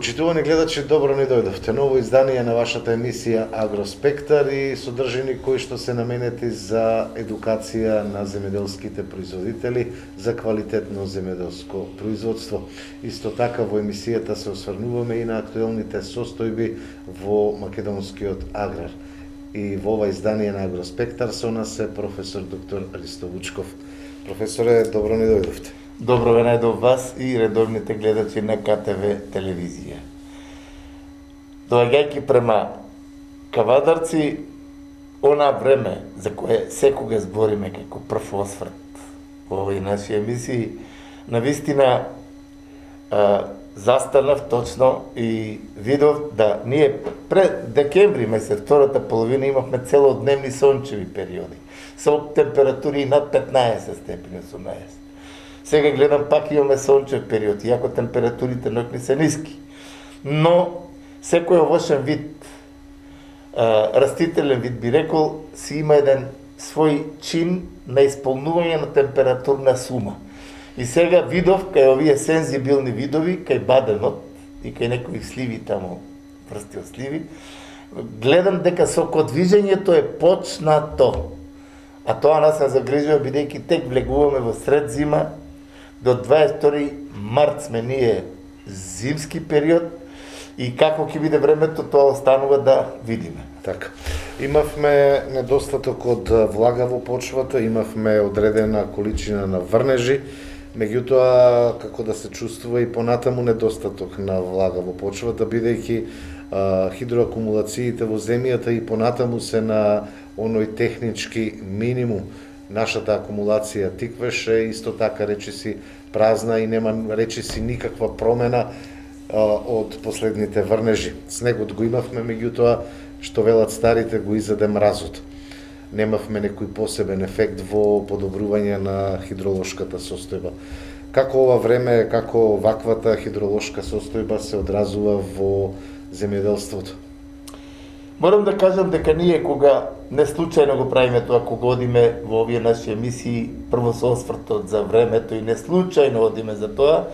Почитувани гледачи, добро ни дојдовте. Ново издание на вашата емисија Агроспектар и содржини кои што се наменети за едукација на земјоделските производители за квалитетно земјоделско производство. Исто така во емисијата се осврнуваме и на актуелните состојби во македонскиот аграр. И во ова издание на Агроспектар со нас е професор доктор Ристо Вучков. Професоре, добро ни дојдовте. Добро ве најдов вас и редовните гледачи на КТВ телевизија. Доаѓајќи према Кавадарци, она време за кое секога збориме како прв осврт во овој наши емисии, навистина застанав точно и видов да ние пред декември месец, втората половина, имавме целодневни сончеви периоди со температури над 15 степени, 18. Сега гледам пак имаме сончев период, иако температурите ноќни се ниски. Но секој овошен вид, растителен вид би рекол, си има еден свој чин на исполнување на температурна сума. И сега видов кај овие сензибилни видови, кај баденот и кај некои сливи таму, врсти од сливи, гледам дека сокодвижењето е почнато. А тоа нас се загрижува бидејќи тек влегуваме во сред зима. До 22 март сме ние зимски период и како ќе биде времето, тоа останува да видиме. Така. Имавме недостаток од влага во почвата, имавме одредена количина на врнежи, меѓутоа како да се чувствува и понатаму недостаток на влага во почвата, бидејќи хидроакумулациите во земјата и понатаму се на оној технички минимум. Нашата акумулација тиквеше, исто така речиси празна и нема речиси никаква промена од последните врнежи. Снегот го имавме, меѓутоа, што велат старите, го изеде мразот. Немавме некој посебен ефект во подобрување на хидролошката состојба. Како ова време, како ваквата хидролошка состојба се одразува во земјоделството? Морам да кажам дека ние кога не случајно го правиме тоа, кога одиме во овие наши емисии, прво со освртот за времето и не случајно одиме за тоа,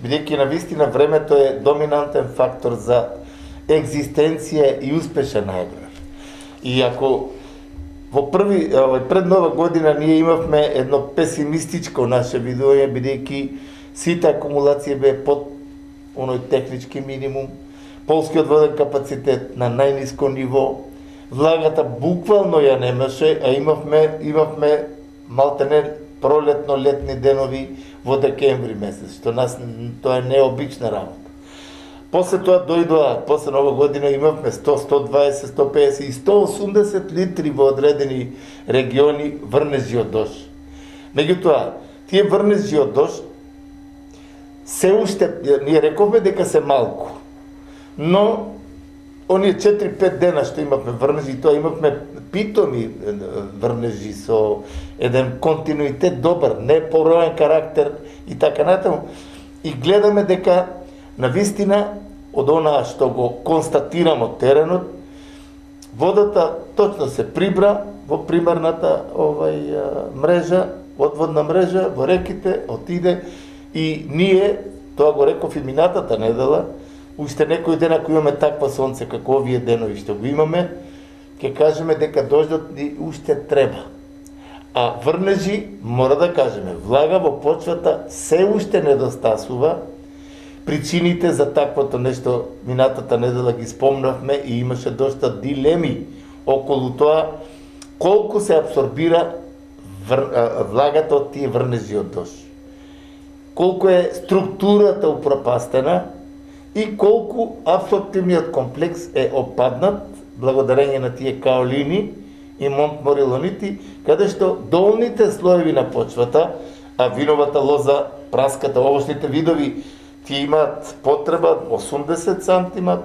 бидејќи навистина времето е доминантен фактор за екзистенција и успешен аграр. И ако во пред нова година ние имавме едно песимистичко наше видување, бидејќи сите акумулации бе под оној технички минимум, полскиот воден капацитет на најниско ниво, влагата буквално ја немаше, а имавме малтене пролетно-летни денови во декември месец, што нас тоа е необична работа. После тоа дојдоа, после нова година имавме 100, 120, 150 и 180 литри во одредени региони врнежи од дож. Меѓутоа, тие врнежи од дож се уште, ние рековме дека се малку, но оние 4-5 дена што имавме врнежи, тоа имавме питоми врнежи со еден континуитет добар, не пороен карактер и така натаму. И гледаме дека навистина од онаа што го констатирам од теренот, водата точно се прибра во примарната мрежа, одводна мрежа, во реките, отиде и ние, тоа го реков и минатата недела, уште некој ден ако имаме таква сонце како овие денови што го имаме, ќе кажеме дека дождот ни уште треба. А врнежи, мора да кажеме, влага во почвата се уште недостасува. Причините за таквото нешто минатата недела ги спомнавме и имаше доста дилеми околу тоа колку се абсорбира влагата од тие врнежи од дож. Колку е структурата упропастена и колку абсорптивниот комплекс е опаднат благодарење на тие каолини и монтморилонити, каде што долните слоеви на почвата, а виновата лоза, праската, овошните видови, тие имаат потреба 80 сантима,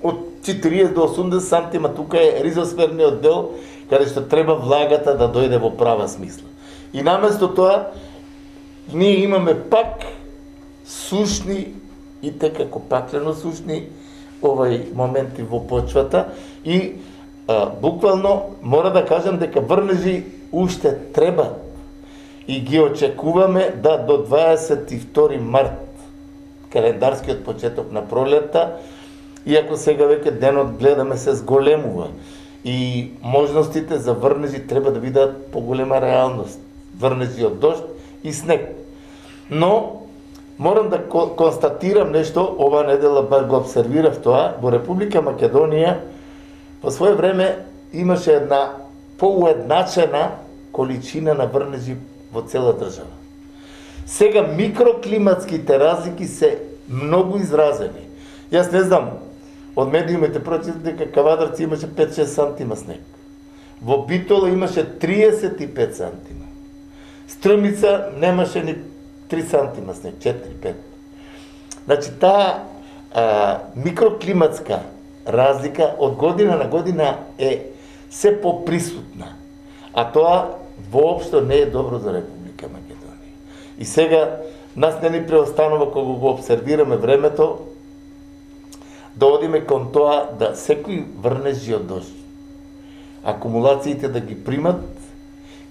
од 40 до 80 сантима, тука е ризосферниот дел, каде што треба влагата да дојде во права смисла. И наместо тоа, ние имаме пак сушни и како паклено сушни моменти во почвата и буквално мора да кажам дека врнежи уште треба и ги очекуваме да до 22 март календарскиот почеток на пролетта, иако сега веќе денот гледаме се зголемува и можностите за врнежи треба да бидат поголема реалност. Врнежи од дожд и снег. Но морам да констатирам нешто, ова недела бар го обсервирав тоа, во Република Македонија по свое време имаше една поуедначена количина на врнежи во цела држава. Сега микроклиматските разлики се многу изразени. Јас не знам, од медиумите прочитав дека Кавадарци имаше 5-6 сантима снег. Во Битола имаше 35 сантима. Струмица немаше ни 3 сантима снег, 4-5. Значи, таа микроклиматска разлика од година на година е се поприсутна. А тоа воопшто не е добро за Република Македонија. И сега нас не ни преостанува кога го обсервираме времето да одиме кон тоа да секој врнежи од дожд, акумулациите да ги примат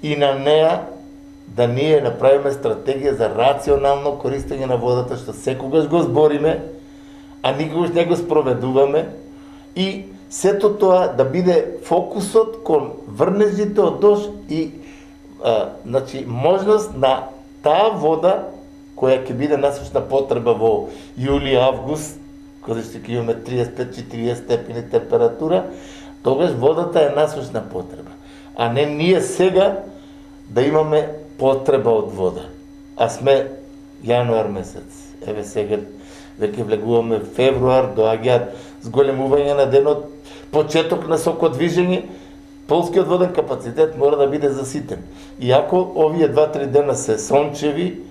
и на неа да ние направиме стратегија за рационално користење на водата, што секогаш го збориме, а никогаш не го спроведуваме, и сето тоа да биде фокусот кон врнежите од дожд и значи можност на таа вода која ќе биде насочна потреба во јули, август, кога ќе имаме 35-40 степени температура, тогаш водата е насочна потреба. А не ние сега да имаме потреба од вода. А сме јануар месец. Еве сега веќе влегуваме февруар, доаѓаат зголемување на денот, почеток на сокодвижење, полскиот воден капацитет мора да биде заситен. Иако овие 2-3 дена се сончеви,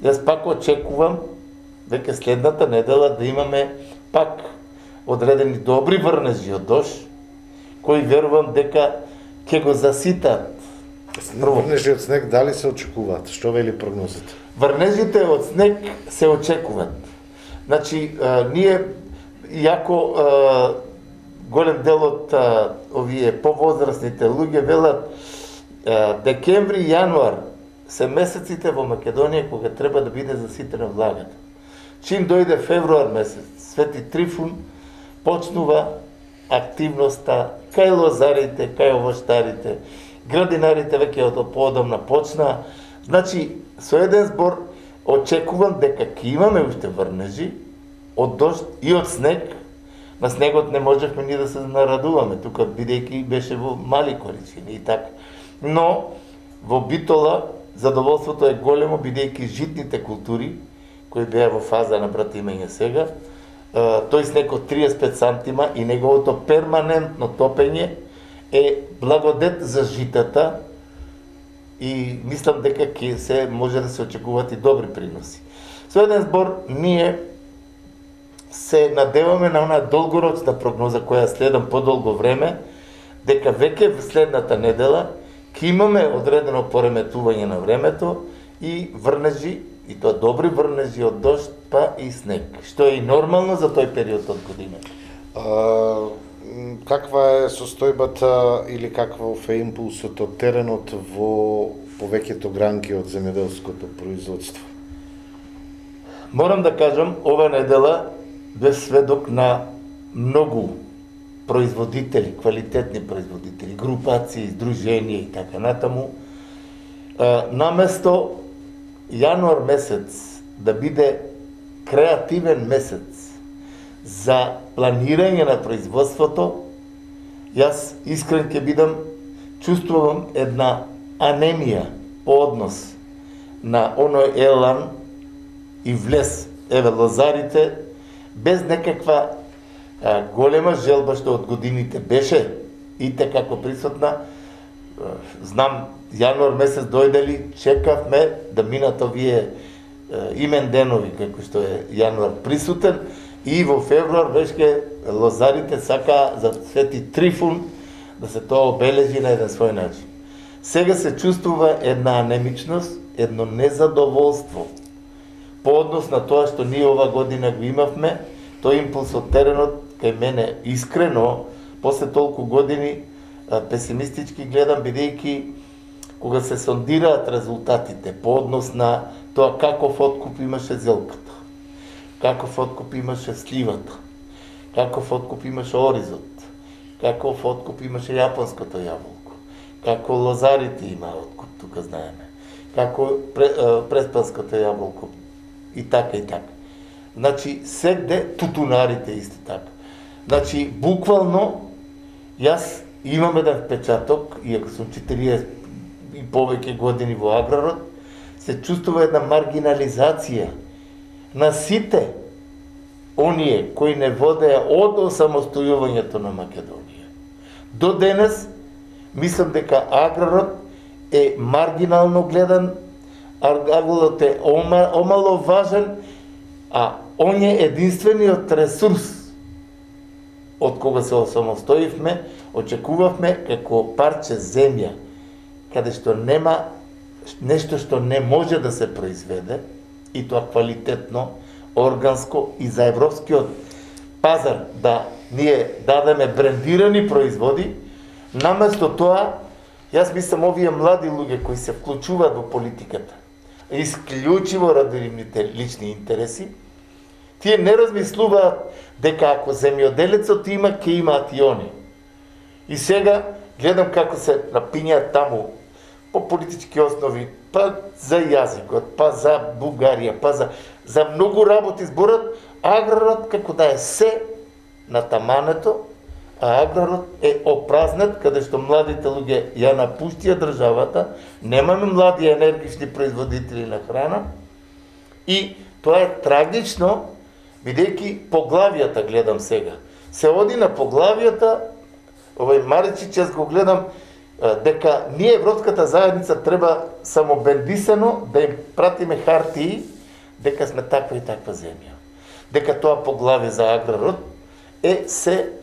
јас пак очекувам веќе следната недела да имаме пак одредени добри врнежи од дожд, кои верувам дека ќе го заситат. Врнежи од снег дали се очекуваат? Што вели прогнозата? Врнежите од снег се очекуваат. Значи, ние, иако голем дел од овие повозрастните луѓе велат декември и јануар се месеците во Македонија кога треба да биде заситена влагата. Чим дојде февруар месец, Свети Трифун почнува активноста кај лозарите, кај овоштарите, градинарите веќе од поодамна почна. Значи, со еден збор очекувам дека ќе имаме уште врнежи од дожд и од снег. На снегот не можевме ни да се нарадуваме, тука бидејќи беше во мали количини и така. Но во Битола задоволството е големо бидејќи житните култури кои беа во фаза на братимење сега, тој снег од 35 сантима и неговото перманентно топење е благодет за житата и мислам дека ќе се може да се очекуваат и добри приноси. Со еден збор, ние се надеваме на онаа долгорочна прогноза која следам подолго време, дека веќе следната недела ќе имаме одредено пореметување на времето и врнежи, и тоа добри врнежи од дожд, па и снег, што е и нормално за тој период од година. Каква е состојбата или каков е импулсот од теренот во повеќето гранки од земјоделското производство? Морам да кажам, ова недела бев сведок на многу производители, квалитетни производители, групации, здруженија и така натаму. Наместо јануар месец да биде креативен месец за планирање на производството, јас искрен ќе бидам, чувствувам една анемија по однос на оној елан и влез, еве лозарите, без некаква голема желба што од годините беше и како присутна. Знам, јануар месец дојдели, чекавме да минат овие имен денови, како што е јануар присутен, и во февруар веќе лозарите сака за Свети Трифун да се тоа обележи на еден свој начин. Сега се чувствува една анемичност, едно незадоволство по однос на тоа што ние ова година го имавме. Тој импулс од теренот кај мене искрено, после толку години песимистички гледам, бидејќи кога се сондираат резултатите по однос на тоа каков откуп имаше зелката, каков откуп имаше сливата, каков откуп имаше оризот, каков откуп имаше јапонското јаболко, како лозарите има откуп, тука знаеме, како преспанското јаболко, и така и така. Значи, сегде тутунарите исто така. Значи, буквално, јас имам еден впечаток, иако сум 40 и повеќе години во аграрот, се чувствува една маргинализација на сите оние кои не водеа од осамостојувањето на Македонија. До денес, мислам дека аграрот е маргинално гледан, аграрот е омаловажен, а он е единствениот ресурс од кога се осамостоивме, очекувавме како парче земја, каде што нема нешто што не може да се произведе, и тоа квалитетно, органско, и за европскиот пазар да ние дадеме брендирани производи, наместо тоа, јас мислам овие млади луѓе кои се вклучуваат во политиката, исклучиво ради нивните лични интереси, тие не размислуваат дека ако земјоделецот има, ќе имаат и они. И сега гледам како се напињаат таму по политички основи, па за јазикот, па за Бугарија, па за многу работи зборат, аграрот како да е се на тамането, а аграрот е опразнет, каде што младите луѓе ја напуштија државата, немаме млади енергични производители на храна, и тоа е трагично, бидејќи поглавијата гледам сега. Се оди на поглавијата, овој Маричич, јас го гледам, дека ние Европската заедница треба само бендисано да им пратиме хартии дека сме таква и таква земја. Дека тоа поглавие за аграрот е се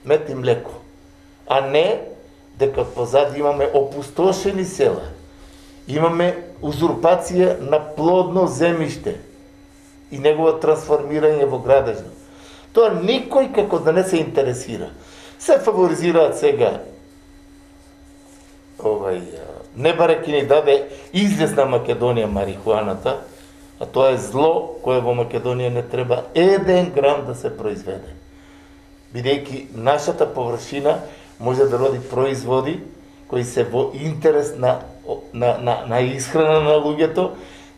мед и млеко, а не дека позади имаме опустошени села, имаме узурпација на плодно земјиште и негово трансформирање во градежно. Тоа никој како да не се интересира. Се фаворизираат сега не бареки ни даде излез на Македонија марихуаната, а тоа е зло кое во Македонија не треба 1 грам да се произведе. Бидејќи нашата површина може да роди производи кои се во интерес на исхрана на луѓето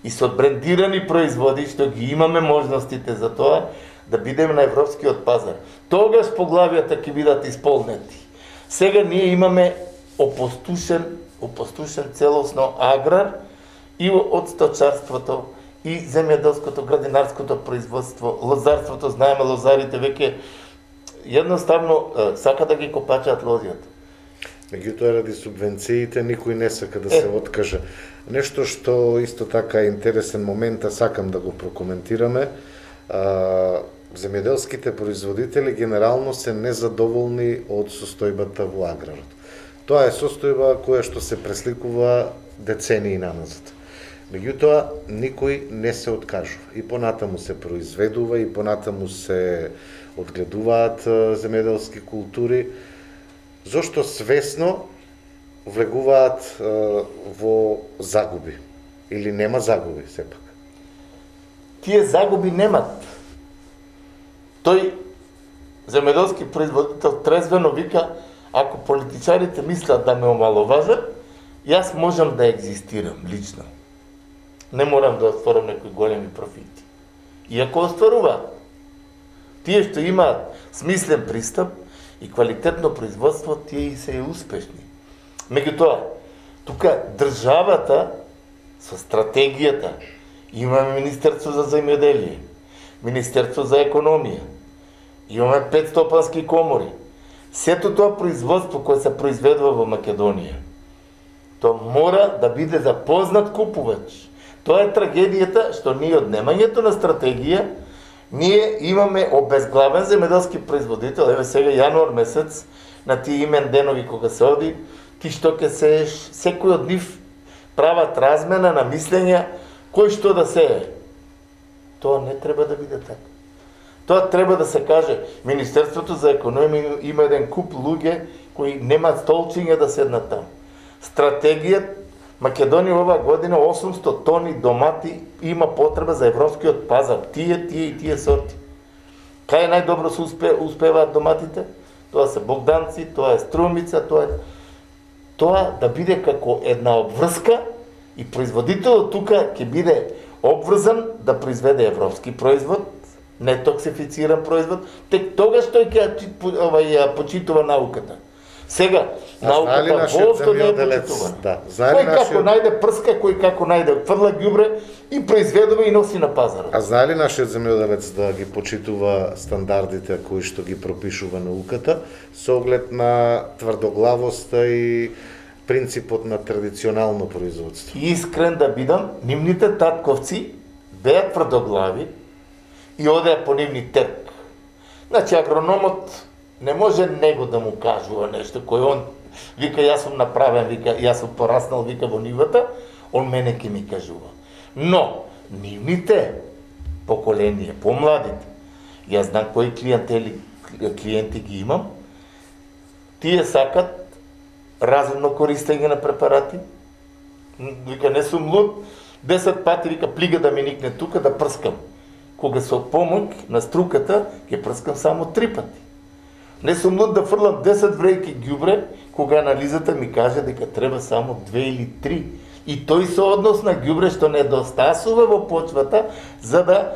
и со брендирани производи, што ги имаме можностите за тоа, да бидеме на европскиот пазар. Тогаш поглавијата ќе бидат исполнети. Сега ние имаме опустошен целосно аграр и од сточарството, и земјоделското, градинарското производство, лозарството, знаеме лозарите веќе едноставно сака да ги копачаат лозјата. Меѓутоа, ради субвенциите, никој не сака да се откаже. Нешто што исто така е интересен момент, а сакам да го прокоментираме, земјоделските производители генерално се незадоволни од состојбата во аграрот. Тоа е состојба која што се пресликува децении наназад. Меѓутоа, никој не се откажува. И понатаму се произведува, и понатаму се одгледуваат земјоделски култури, зошто свесно влегуваат во загуби. Или нема загуби, сепак? Тие загуби немат. Тој земјоделски производител трезвено вика, ако политичарите мислат да ме омаловажат, јас можам да екзистирам лично. Не морам да остварам некои големи профити. Иако остваруваат. Тие што имаат смислен пристап и квалитетно производство, тие и се успешни. Меѓутоа, тука државата со стратегијата, имаме Министерство за земјоделие, Министерство за економија, имаме 5 стопански комори. Сето тоа производство кое се произведува во Македонија, тоа мора да биде запознат купувач. Тоа е трагедијата што ние од немањето на стратегија, ние имаме обезглавен земјоделски производител. Еве сега јануар месец, на тие имен денови кога се оди, ти што ќе сееш, секој од нив прават размена на мислења кој што да сее. Тоа не треба да биде така. Тоа треба да се каже, Министерството за економија има еден куп луѓе кои немаат столчиња да седнат таму. Стратегија Македонија оваа година 800 тони домати има потреба за европскиот пазар. Тие сорти. Кај најдобро се успеваат доматите? Тоа се богданци, тоа е струмица, тоа да биде како една обврска и производителот тука ќе биде обврзан да произведе европски производ, нетоксифициран производ, тек тогаш тој ќе почитува науката. Сега, науката воопшто не е почитувана. Кој како најде прска, кој како најде фрла ѓубре и произведува и носи на пазарот. А знае ли нашиот земјоделец да ги почитува стандардите кои што ги пропишува науката со оглед на тврдоглавоста и принципот на традиционално производство? Искрен да бидам, нивните татковци беа тврдоглави и одеа по нивни терк. Значи агрономот не може него да му кажува нешто кој он вика јас сум направен, вика јас сум пораснал, вика во нивата, он мене ќе ми кажува. Но нивните поколенија, помладите, јас знам кои клиенти ги имам, тие сакат разумно користење на препарати. Вика не сум луд, 10 пати вика плига да ми никне тука да прскам. Кога со помоќ на струката ќе прскам само 3 пати. Не сум луд да фрлам 10 врејки ѓубре, кога анализата ми каже дека треба само 2 или 3. И тој со однос на ѓубре што недостасува во почвата, за да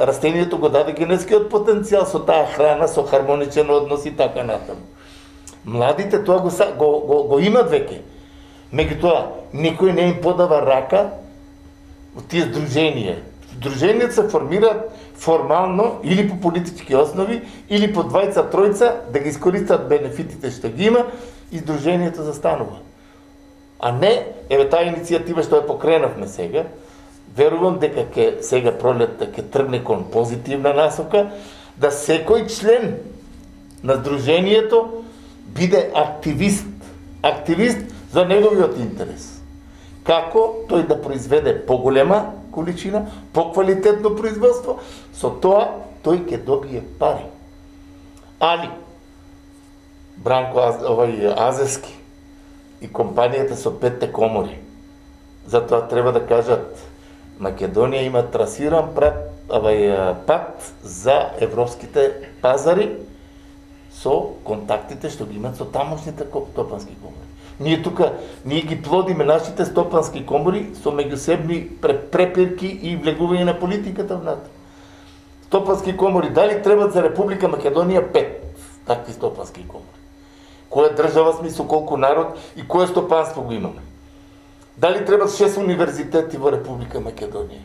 растението го даде генетскиот потенцијал со таа храна, со хармоничен однос и така натаму. Младите тоа го имат веќе. Меѓутоа, никој не им подава рака од тие здруженија. Здруженијата се формираат формално или по политички основи, или по двајца-тројца да ги искористат бенефитите што ги има и здруженијата застанува. А не, еве таа иницијатива што ја покренавме сега, верувам дека сега пролетта ќе тргне кон позитивна насока, да секој член на здруженијето биде активист за неговиот интерес. Како тој да произведе поголема количина, поквалитетно производство, со тоа тој ќе добие пари. Али Бранко Азески и компанијата со 5 комори, затоа треба да кажат Македонија има трасиран пат за европските пазари со контактите што ги имат со тамошните стопански комори. Ние ги плодиме нашите стопански комори со меѓусебни препирки и влегување на политиката внатре. Стопански комори, дали требат за Република Македонија 5 такви стопански комори? Која држава сме, со колку народ и кое стопанство го имаме? Дали требат 6 универзитети во Република Македонија?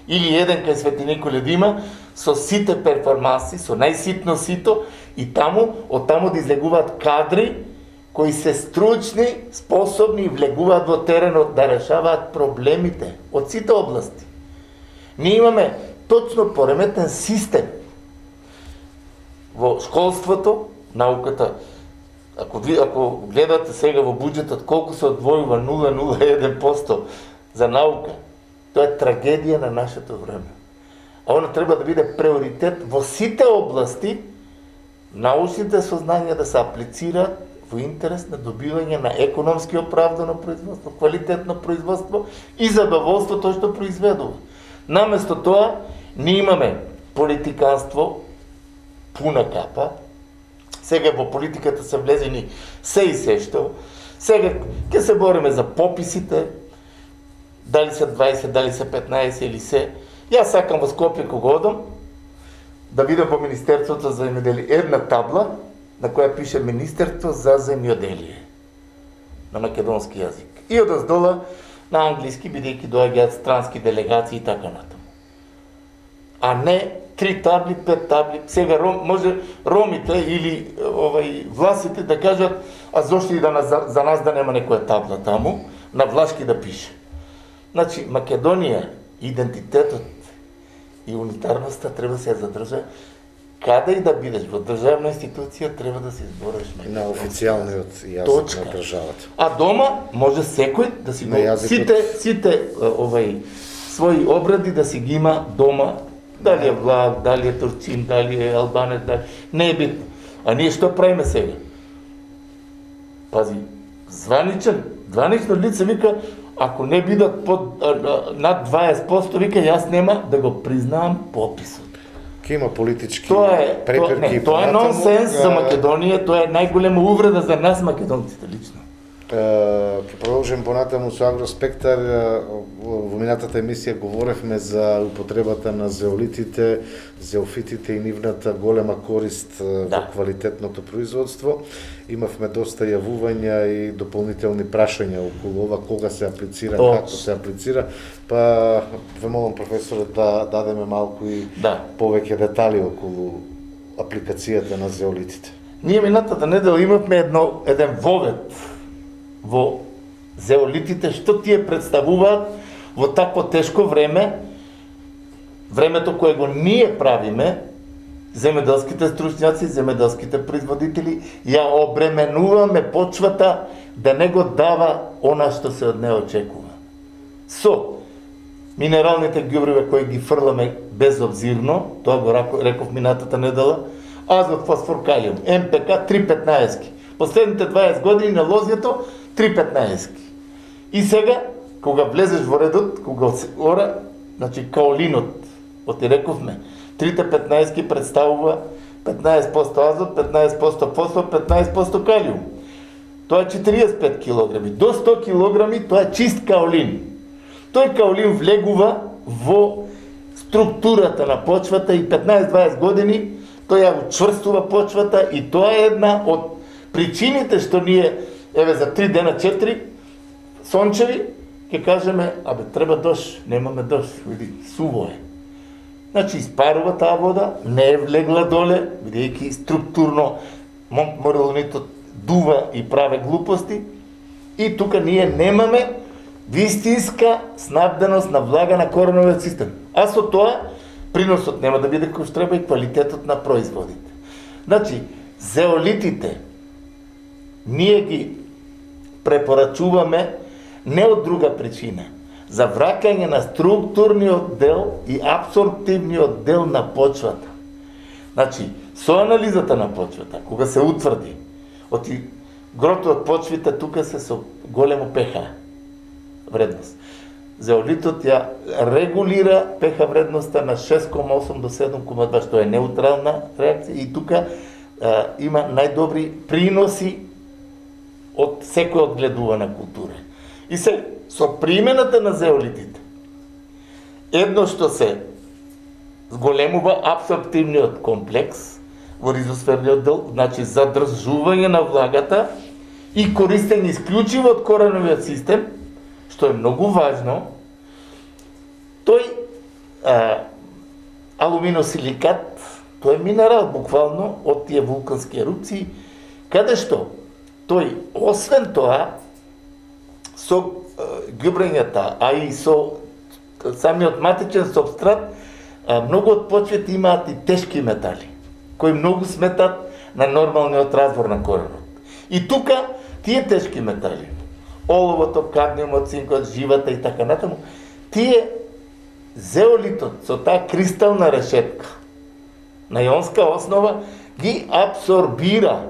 Или еден кај Свети Николе да има со сите перформанси, со најситно сито и од таму да излегуваат кадри кои се стручни, способни и влегуваат во теренот да решаваат проблемите од сите области. Ние имаме точно пореметен систем во школството, науката. Ако гледате сега во буџетот колку се одвојува 0,01% за наука, тоа е трагедија на нашето време. А она треба да биде приоритет во сите области, научните сознања да се аплицираат во интерес на добивање на економски оправдано производство, квалитетно производство и задоволство тоа што произведува. Наместо тоа, ние имаме политиканство пуна капа. Сега во политиката се влезени се и се што. Сега ќе се бориме за пописите, дали се 20, дали се 15 или се. Јас сакам во Скопје кога одам да видам во Министерството за земјоделие една табла на која пише Министерство за земјоделие на македонски јазик. И одоздола на англиски, бидејќи доаѓаат странски делегации и така натаму. А не 3 табли, 5 табли. Сега може ромите или власите да кажат, а зошто и за нас да нема некоја табла таму, на влашки да пише. Значи, Македонија, идентитетот и унитарноста треба се задржа. Каде и да бидеш во државна институција, треба да се избориш на официјалниот јазик на државата. А дома може секој да си сите своји обради да си ги има дома. Дали е влак, дали е турчин, дали е албанец, не е битно. А ние што правиме сега? Пази, званично лице вика, ако не бидат над 20%, вика, јас нема да го признавам пописот. Ке има политички преперки. Тоа е нонсенс за Македонија, тоа е најголема увреда за нас македонците лично. Ќе продолжим понатаму со Агроспектар. Во минатата емисија говоревме за употребата на зеолитите, зеофитите и нивната голема корист во квалитетното производство. Имавме доста јавувања и дополнителни прашања околу ова, кога се аплицира, како се аплицира, па ве молам професорот да дадеме малку и повеќе детали околу апликацијата на зеолитите. Ние минатата недела имавме еден вовед во зеолитите, што тие представуваат во такво тешко време, времето кое го ние правиме, земеделските стручњаци, земеделските производители, ја обременуваме почвата да не го дава она што се од неа очекува. Со минералните ѓубриви кои ги фрламе безобзирно, тоа го реков минатата недела, азот, фосфор, калиум, МПК 3,15. Последните 20 години на лозјето 3,15. И сега, кога влезеш во редот, кога се ора, значи каолинот, оти рековме, 3,15 представува 15% азот, 15% фосфор, 15% калиум. Тоа е 45 килограми. До 100 килограми тоа е чист каолин. Тој каолин влегува во структурата на почвата и 15-20 години тој ја учврстува почвата и тоа е една од причините што ние, еве за 3 дена 4 сончеви, ќе кажеме, треба дожд, немаме дожд, види, суво е. Значи, испарува таа вода, не е влегла доле, бидејќи структурно морилонитот дува и праве глупости, и тука ние немаме вистинска снабденост на влага на кореновиот систем. А со тоа, приносот нема да биде кој што треба и квалитетот на производите. Значи, зеолитите, ние ги препорачуваме не од друга причина, за враќање на структурниот дел и абсорптивниот дел на почвата. Значи, со анализата на почвата, кога се утврди, оти грото од почвите тука се со големо pH вредност. Зеолитот ја регулира pH вредноста на 6,8 до 7,2, што е неутрална реакција и тука има најдобри приноси од секој одгледувана култура. И се, со примената на зеолитите, едно што се зголемува абсорптивниот комплекс во ризосферниот дел, значи задржување на влагата и користење исклучиво од кореновиот систем, што е многу важно. Тој алуминосиликат, тој е минерал буквално од тие вулкански ерупции, каде што тој, освен тоа, со ѓубрењата, а и со самиот матичен субстрат, многу од почвите имаат и тешки метали, кои многу сметат на нормалниот развор на коренот. И тука, тие тешки метали, оловото, кадмиумот, цинкот, живата и така натаму, тие зеолитот со таа кристална решетка на ионска основа ги абсорбира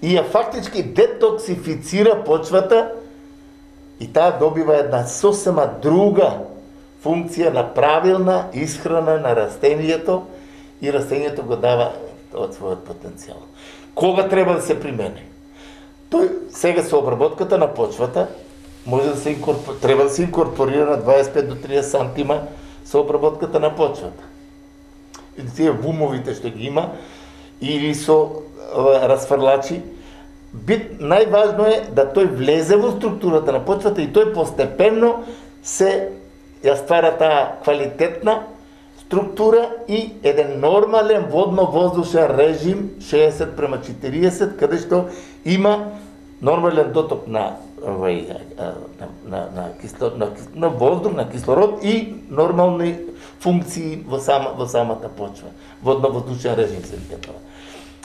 и ја фактички детоксифицира почвата и таа добива една сосема друга функција на правилна исхрана на растението и растението го дава од својот потенцијал. Кога треба да се примени? Тој сега со обработката на почвата може да се треба да се инкорпорира на 25 до 30 сантима со обработката на почвата. И тие вумовите што ги има или со расфрлачи, најважно е да тој влезе во структурата на почвата и тој постепенно се ја ствара таа квалитетна структура и еден нормален водно-воздушен режим 60:40, каде што има нормален доток на воздух, на кислород и нормални функции во самата почва. Водно-воздушен режим се вика тоа.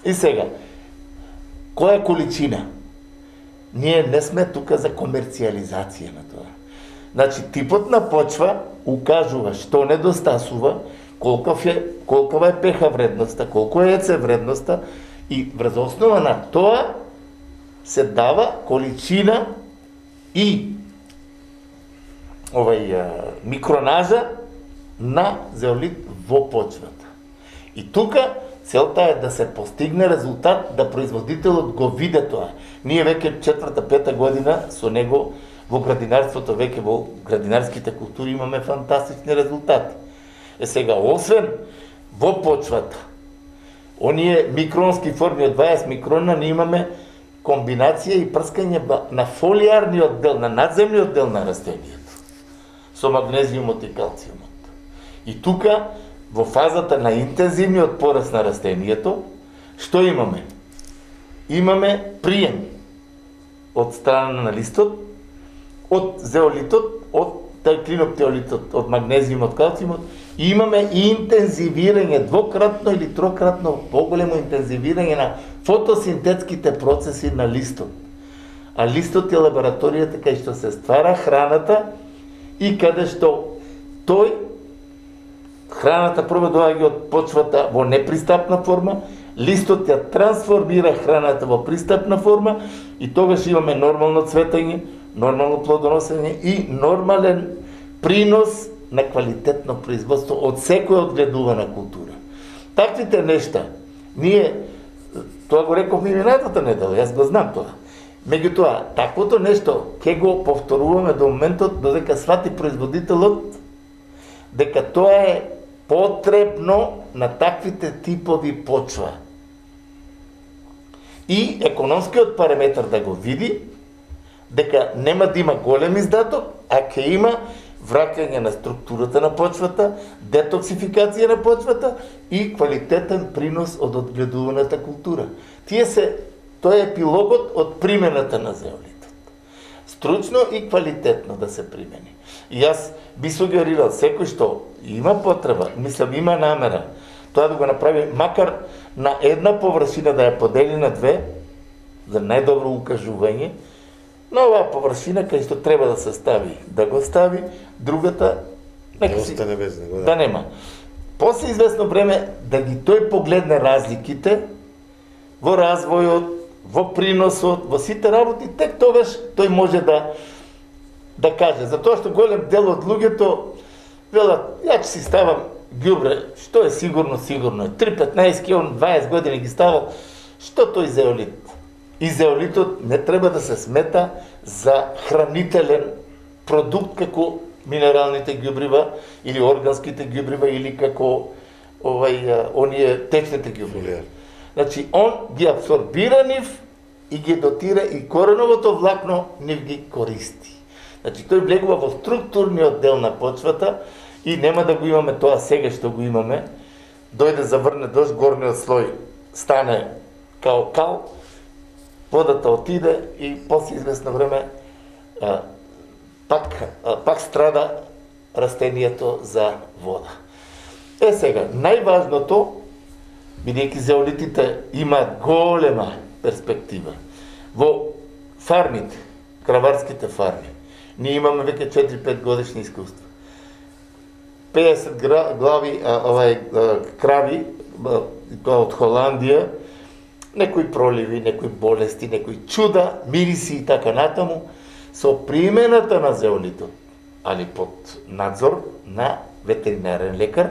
И сега, која количина? Ние не сме тука за комерцијализација на тоа. Значи, типот на почва укажува што недостасува, колкава е pH вредноста, колко е EC вредноста и врз основа на тоа се дава количина и микронажа на зеолит во почвата. И тука целта е да се постигне резултат, да производителот го види тоа. Ние веќе 4-5 година со него во градинарството, веќе во градинарските култури имаме фантастични резултати. Сега, освен во почвата, оние микронски форми од 20 микрона, ние имаме комбинација и прскање на фолиарниот дел, на надземниот дел на растенијето, со магнезиумот и калциумот. И тука, во фазата на интензивниот пораст на растенијето, што имаме? Имаме прием од страна на листот, од зеолитот, од клиноптеолитот, од магнезиумот, калциумот, и имаме и интензивирање, двократно или трократно поголемо интензивирање на фотосинтетските процеси на листот. А листот е лабораторијата кај што се ствара храната и каде што храната прво доаѓа од почвата во непристапна форма, листот ја трансформира храната во пристапна форма и тогаш имаме нормално цветање, нормално плодоносење и нормален принос на квалитетно производство од секоја одгледувана култура. Таквите нешта, ние, тоа го реков ми минатата недела, јас го знам тоа. Меѓутоа, таквото нешто ќе го повторуваме до моментот додека свати производителот дека тоа е потребно на таквите типови почва. И економскиот параметар да го види дека нема да има голем издаток, а ќе има враќање на структурата на почвата, детоксификација на почвата и квалитетен принос од одгледуваната култура. Тоа е епилогот од примената на зеолитот. Стручно и квалитетно да се примени. И јас би сугерирал секој што има потреба, мислам има намера, тоа да го направи макар на една површина да ја подели на две, за најдобро укажување, на оваа површина кај што треба да се стави, да го стави, другата нека си остане без него, да нема. После известно време да ги тој погледне разликите во развојот, во приносот, во сите работи, тек тогаш тој може да каже, затоа што голем дел од луѓето велат, ја ќе си ставам ѓубре, што е сигурно е 3-15 кг, 20 години ги ставал, што тој зеолит? И зеолитот не треба да се смета за хранителен продукт како минералните ѓубрива или органските ѓубрива или како оние течните ѓубрива. Значи, он ги абсорбира нив и ги дотира и кореновото влакно нив ги користи. Значи, тој влегува во структурниот дел на почвата и нема да го имаме тоа сега што го имаме. Дојде заврне дожд, горниот слој стане као кал, водата отиде и после известно време пак страда растението за вода. Сега, најважното, бидејќи зеолитите имаат голема перспектива во фармите, краварските фарми, ние имаме веќе 4-5 годишни искуства. 50 глави крави од Холандија, некои проливи, некои болести, некои чуда, мириси и така натаму, со примената на зеолитот, али под надзор на ветеринарен лекар,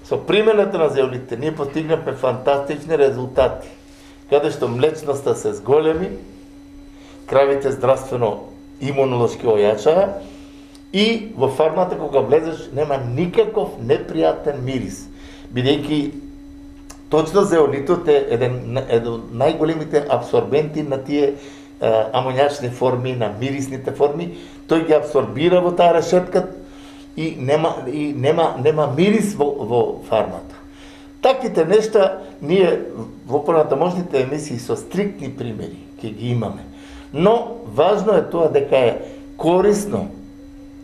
со примената на зеолитите ние постигнавме фантастични резултати, каде што млечноста се зголеми, кравите здравствено имунолошки ојачаа и во фармата кога влезеш нема никаков непријатен мирис, бидејќи точно зеолитот е еден од најголемите абсорбенти на тие амоњачни форми, на мирисните форми, тој ги абсорбира во таа решетка и нема мирис во фармата. Таквите нешта ние во понатамошните емисии со стриктни примери ќе ги имаме. Но важно е тоа дека е корисно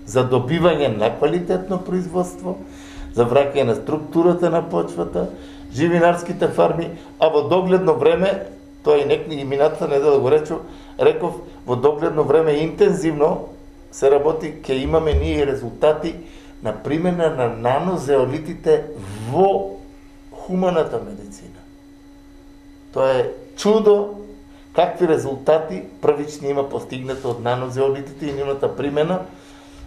за добивање на квалитетно производство, за враќање на структурата на почвата, живинарските фарми, а во догледно време, тоа и минатата недела го реков, во догледно време интензивно се работи, ќе имаме ние резултати на примена на нанозеолитите во хуманата медицина. Тоа е чудо какви резултати првични има постигнато од нанозеолитите и нивната примена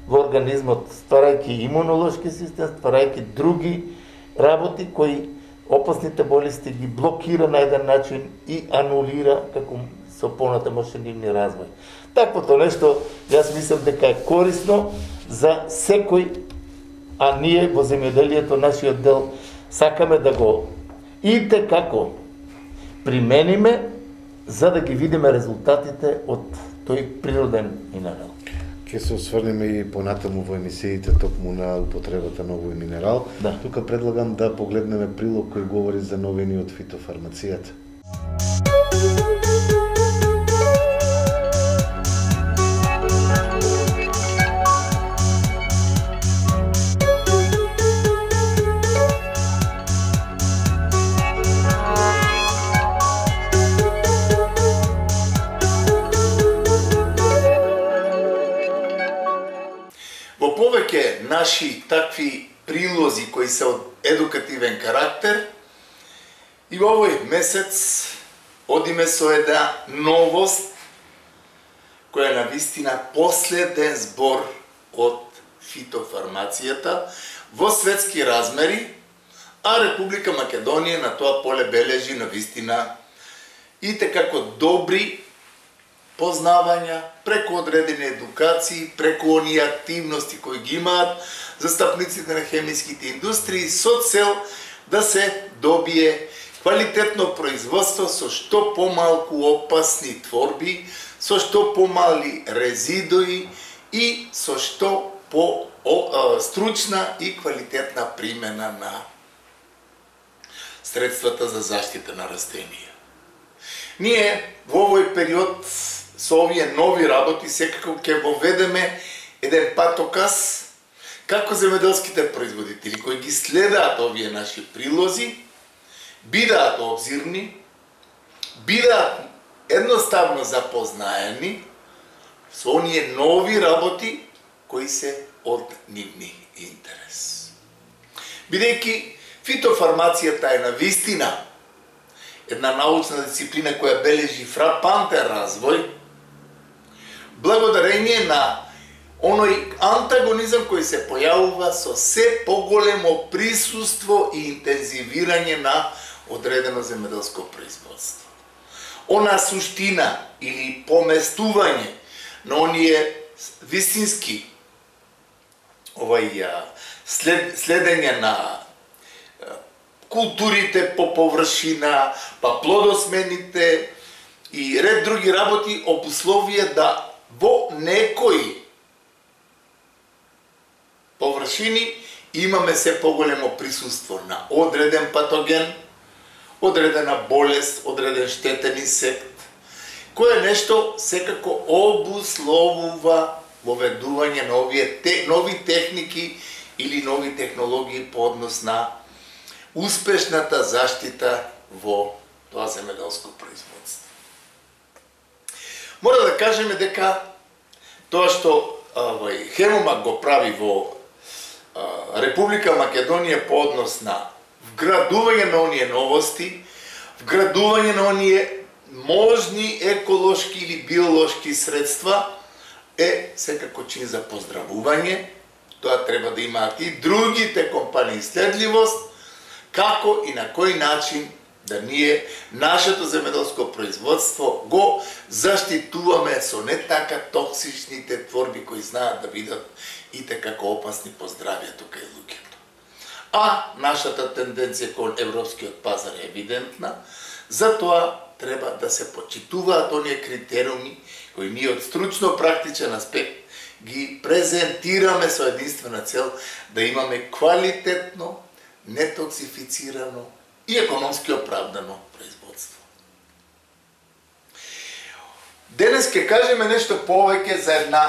во организмот, стварајќи имунолошки систем, стварајќи други работи кои опасните болести ги блокира на еден начин и анулира како со понатамошен нивни развој. Таквото нешто, јас мислам дека е корисно за секој, а ние во земјоделието, нашиот дел, сакаме да го како примениме за да ги видиме резултатите од тој природен минерал. Ке се осврнеме и понатаму во емисиите токму на употребата на овој минерал. Да. Тука предлагам да погледнеме прилог кој говори за новини од фитофармацијата. Во повеќе наши такви прилози кои се од едукативен карактер, и во овој месец одиме со една новост која е навистина последен збор од фитофармацијата во светски размери, а Република Македонија на тоа поле бележи навистина и како добри познавања, преку одредени едукации, преку оние активности кои ги имаат застапниците на хемиските индустрии со цел да се добие квалитетно производство со што помалку опасни творби, со што помали резидуи и со што по стручна и квалитетна примена на средствата за заштита на растенија. Ние во овој период со овие нови работи секако ќе воведеме еден патоказ како земјоделските производители кои ги следаат овие наши прилози бидаат обзирни, бидаат едноставно запознаени со оние нови работи кои се од нивни интерес. Бидејќи фитофармацијата е навистина една научна дисциплина која бележи фрапантен развој, благодарение на оној антагонизам кој се појавува со се поголемо присуство и интензивирање на одредено земјоделско производство. Она суштина или поместување на оние вистински следење на културите по површина, па плодосмените и ред други работи обусловија да во некои површини имаме се поголемо присуство на одреден патоген, одредена болест, одреден штетен инсект, кој е нешто секако обусловува воведување на овие нови техники или нови технологии по однос на успешната заштита во тоа земјоделско производство. Мора да кажеме дека тоа што Хемомак го прави во Република Македонија по однос на вградување на оние новости, вградување на оние можни еколошки или биолошки средства е секако чин за поздравување. Тоа треба да имаат и другите компании следливост, како и на кој начин да ние нашето земјоделско производство го заштитуваме со не така токсичните творби кои знаат да бидат и како опасни по здравјето кај луѓето. А нашата тенденција кон европскиот пазар е евидентна, затоа треба да се почитуваат оние критериуми кои ние од стручно-практичен аспект ги презентираме со единствена цел да имаме квалитетно, нетоксифицирано и економски оправдано производство. Денес ќе кажеме нешто повеќе за една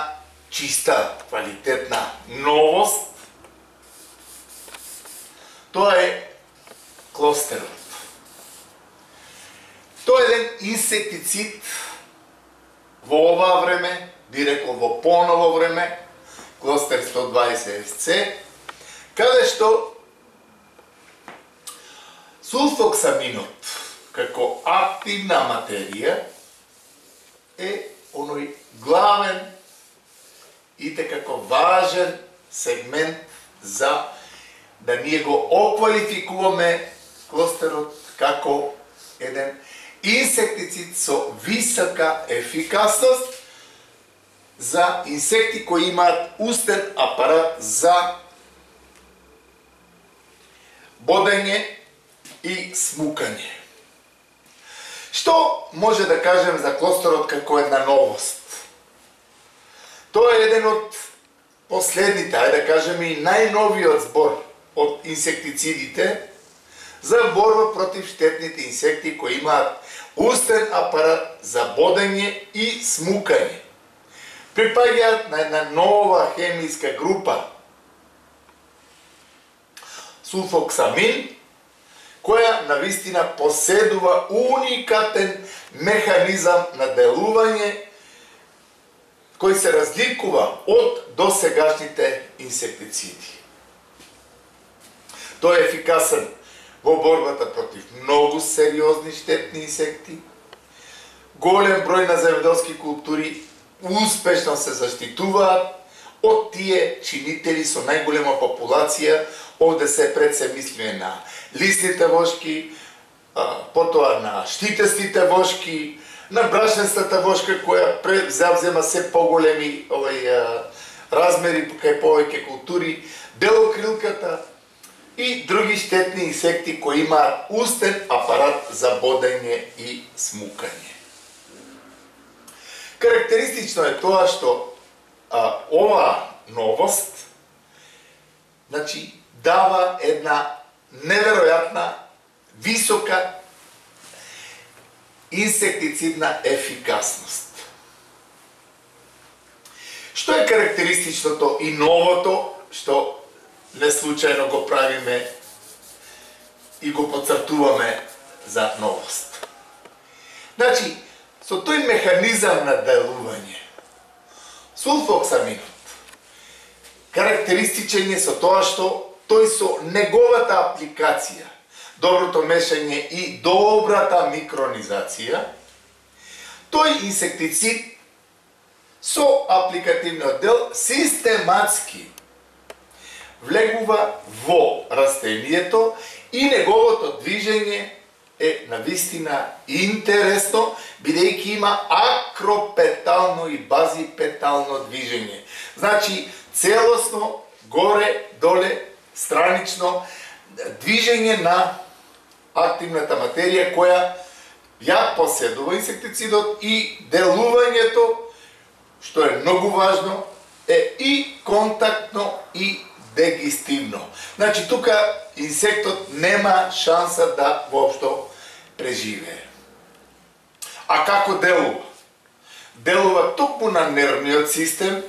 чиста, квалитетна новост. Тоа е клостерот. Тоа е еден инсектицид во оваа време, би рекол во поново време, клостер 120 SC, каде што сулфоксаминот како активна материја е оној главен и како важен сегмент за да ние го оквалификуваме клостерот како еден инсектицид со висока ефикасност за инсекти кои имаат устен апарат за бодење и смукање. Што може да кажем за клостерот како една новост? Тоа е еден од последните, ајде да кажем и најновиот збор од инсектицидите за борба против штетните инсекти кои имаат устен апарат за бодење и смукање. Припаѓаат на една нова хемиска група сулфоксамин, која навистина поседува уникатен механизам на делување кој се разликува од досегашните инсектициди. Тој е ефикасен во борбата против многу сериозни штетни инсекти. Голем број на земјоделски култури успешно се заштитуваат од тие чинители со најголема популација. Овде се пред се мислиме на лисните вошки, потоа на штитестите вошки, на брашнестата вошка која завзема се поголеми размери кај повеќе култури, белокрилката и други штетни инсекти кои имаат устен апарат за бодење и смукање. Карактеристично е тоа што ова новост дава една неверојатна, висока инсектицидна ефикасност. Што е карактеристичното и новото, што не случајно го правиме и го подцртуваме за новост? Со тој механизам на делување, сулфоксаминот карактеристичен е со тоа што тој со неговата апликација, доброто мешање и добрата микронизација, тој инсектицид со апликативниот дел систематски влегува во растението и неговото движење е навистина интересно, бидејќи има акропетално и базипетално движење. Целосно, горе, доле, странично, движење на активната материја која ја поседува инсектицидот и делувањето, што е многу важно, е и контактно и дегестивно. Тука инсектот нема шанса да воопшто преживее. А како делува? Делува токму на нервниот систем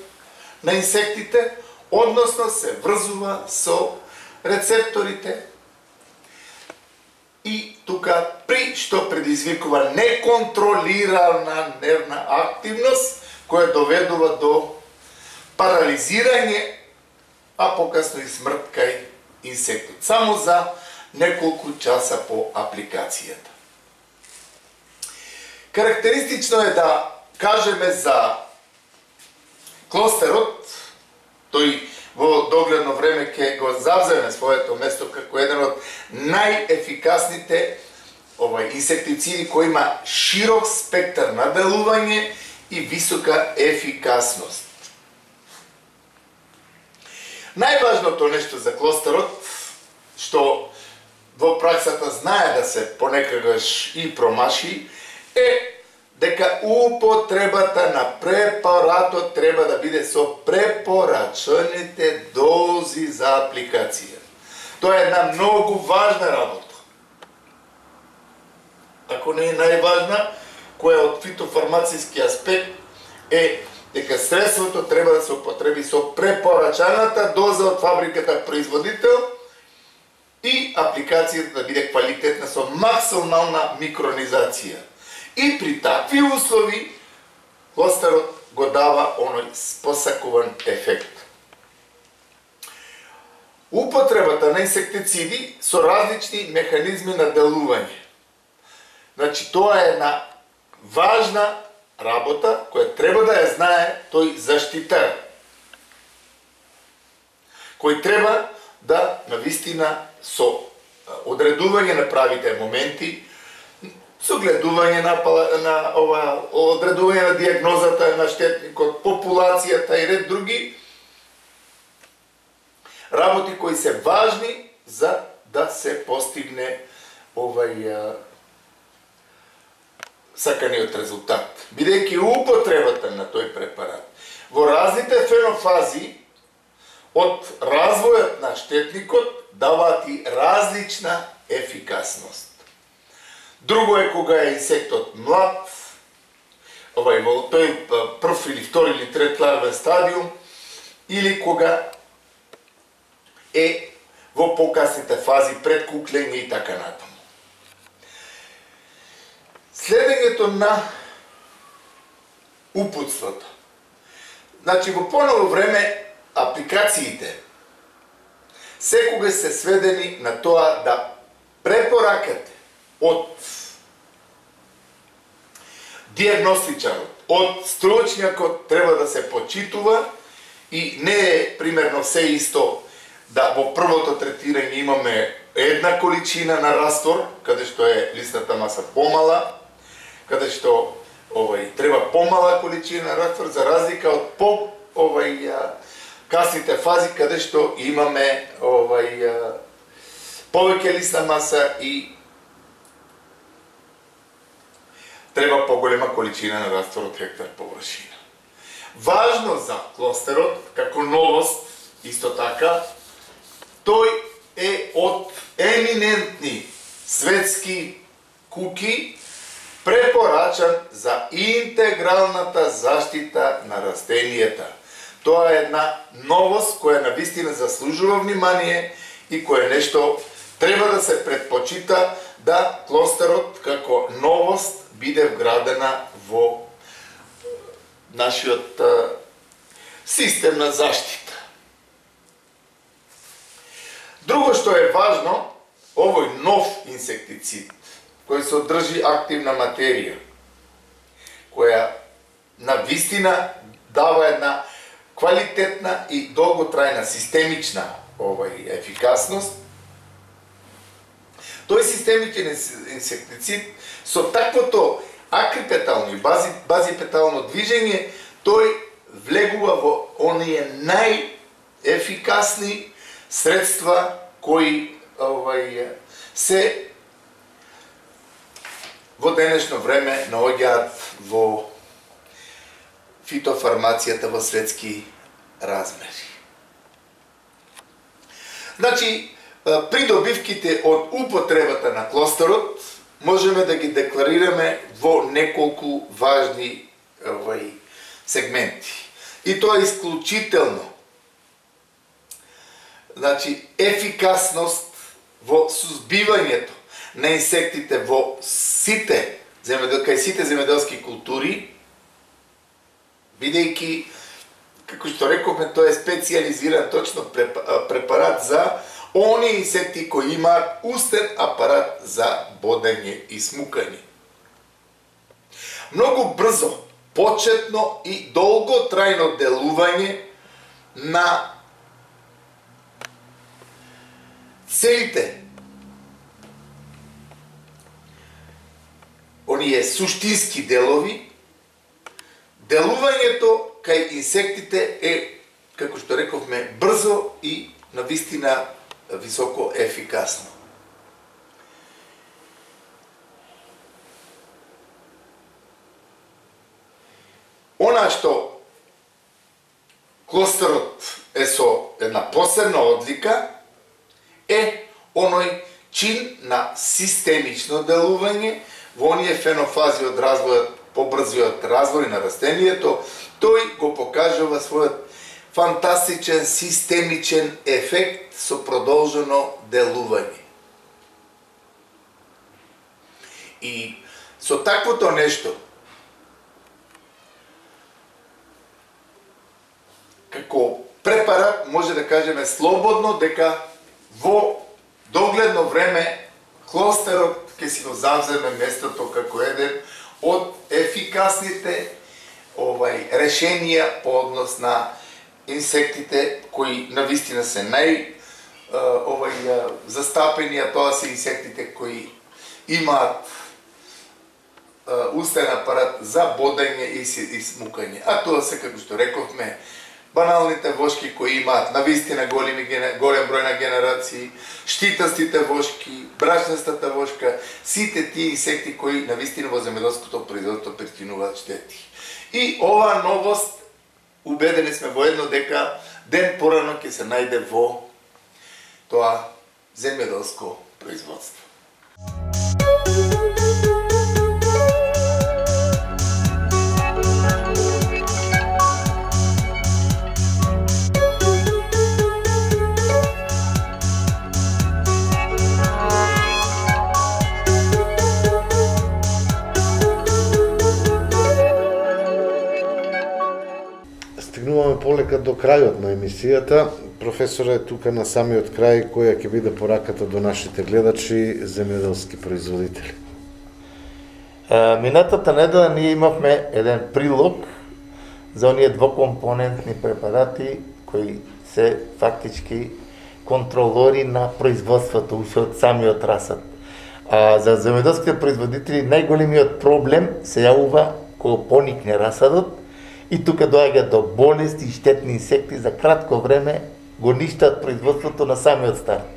на инсектите, односно се врзува со рецепторите и тука при што предизвикува неконтролирана нервна активност која доведува до парализирање, а покасно и смрт кај инсектот. Само за неколку часа по апликацијата. Карактеристично е да кажеме за клостерот, тој во догледно време ќе го завземе своето место како еден од најефикасните инсектициди кој има широк спектар на делување и висока ефикасност. Најважното нешто за клостерот, што во праксата знае да се понекогаш и промаши, е дека употребата на препаратот треба да биде со препорачаните дози за апликација. Тоа е една многу важна работа. Ако не е најважна, која од фитофармацијски аспект е дека средството треба да се употреби со препорачаната доза од фабриката производител и апликацијата да биде квалитетна со максимална микронизација. И при такви услови клостерот го дава оној посакуван ефект. Употребата на инсектициди со различни механизми на делување. Тоа е една важна работа која треба да ја знае тој заштитар. кој треба да навистина со одредување на правите моменти, со гледување на одредување на диагнозата на штетникот, популацијата и ред други работи кои се важни за да се постигне саканиот резултат. Бидејќи употребата на тој препарат во различните фенофази од развојот на штетникот даваат и различна ефикасност. Друго е кога е инсектот млад, во тој прв или втори или трет ларвен стадиум, или кога е во покасните фази пред куклење и така натаму. Следењето на упутството. Значи, во поново време апликациите секогаш се сведени на тоа да препоракате од диагностичарот, од стручњакот треба да се почитува и не е примерно се исто да во првото третирање имаме една количина на раствор, каде што е листната маса помала, каде што треба помала количина на раствор, за разлика од касните фази, каде што имаме повеќе листна маса и треба поголема количина на раствор од хектар површина. Важно за клостерот, како новост, исто така, тој е од еминентни светски куки препорачан за интегралната заштита на растенијата. Тоа е една новост која навистина заслужува внимание и кое нешто треба да се предпочита да клостерот како новост биде вградена во нашиот систем на заштита. Друго што е важно, овој нов инсектицид, кој се одржи активна материја, која навистина дава една квалитетна и долготрајна системична ефикасност. Тој системичен инсектицид со таквото акрипетално и базипетално движење, тој влегува во оние најефикасни средства кои се во денешно време наоѓаат во фитофармацијата во светски размери. Значи, придобивките од употребата на клостерот можеме да ги декларираме во неколку важни сегменти. И тоа е исклучително. Значи, ефикасност во сузбивањето на инсектите во сите земјоделски култури, бидејќи, како што рековме, тоа е специјализиран точно препарат за оние инсекти кои имаат устен апарат за бодење и смукање. Многу брзо, почетно и долготрајно делување на целите оние суштински делови, делувањето кај инсектите е, како што рековме, брзо и навистина високо ефикасно. Она што клостерот е со една посебна одлика е оној чин на системично делување во оние фенофази од развојот, побрзиот развој на растението. Тој го покажува својот фантастичен системичен ефект со продолжено делување. И со таквото нешто, како препарат може да кажеме слободно дека во догледно време клостерот ќе си го завземе местото како еден од ефикасните решенија по однос на инсектите кои навистина се застапени, а тоа се инсектите кои имаат устен апарат за бодење и смукање. А тоа се, како што рековме, баналните вошки кои имаат навистина голем број на генерации, штитастите вошки, брашнестата вошка, сите тие инсекти кои навистина во земјоделското производство причинуваат штети. И оваа новост, убедени сме воедно дека ден порано ќе се најде во тоа земјоделско производство. Стигнуваме полека до крајот на емисијата. Професора е тука на самиот крај, која ќе биде пораката до нашите гледачи, земјоделски производители. Минатата недела ние имавме еден прилог за оние двокомпонентни препарати кои се фактички контролори на производството уште од самиот расад. За земјоделските производители најголемиот проблем се јавува кога поникне расадот и тука доаѓа до болести и штетни инсекти за кратко време го ништат производството на самиот старт.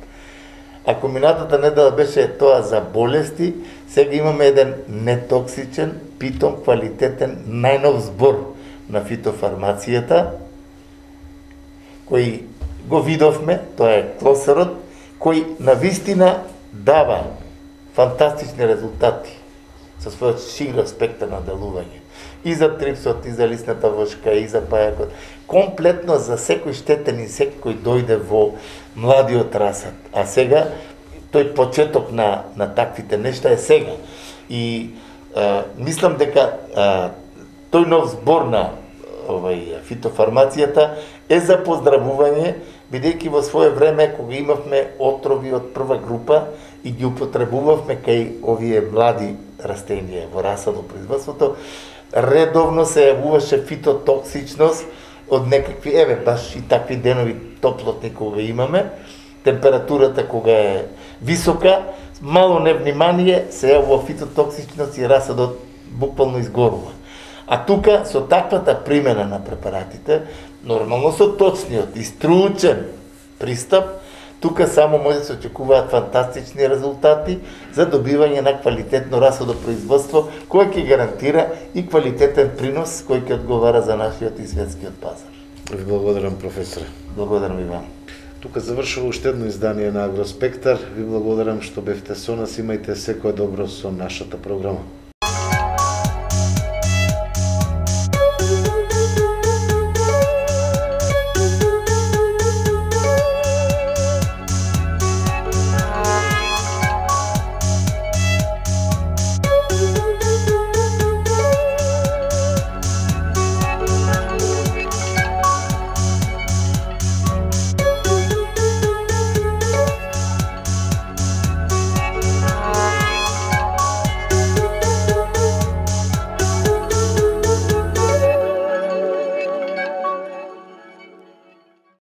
Ако минатата недела беше тоа за болести, сега имаме еден нетоксичен, питом квалитетен, најнов збор на фитофармацијата, кој го видовме, тоа е клосерот, кој навистина дава фантастични резултати со својот широк спектар на делување. И за трипсот, и за лисната вошка, и за пајакот. Комплетно за секој штетен инсект кој дојде во младиот расад. А сега, тој почеток на таквите нешта е сега. И мислам дека тој нов збор на фитофармацијата е за поздравување, бидејќи во свое време, кога имавме отрови од прва група и ги употребувавме кај овие млади растенија во расадо производството, редовно се јавуваше фитотоксичност од некакви, баш и такви денови топлотни кога имаме, температурата кога е висока, мало невнимание се јавува фитотоксичност и расадот буквално изгорува. А тука со таквата примена на препаратите, нормално со точниот и стручен пристап, тука само може да се очекуваат фантастични резултати за добивање на квалитетно расадо производство, кој ќе гарантира и квалитетен принос кој ќе одговара за нашиот и светскиот пазар. Ви благодарам, професоре. Благодарам и вам. Тука завршува уште едно издание на Агроспектар. Ви благодарам што бевте со нас. Имајте секое добро со нашата програма.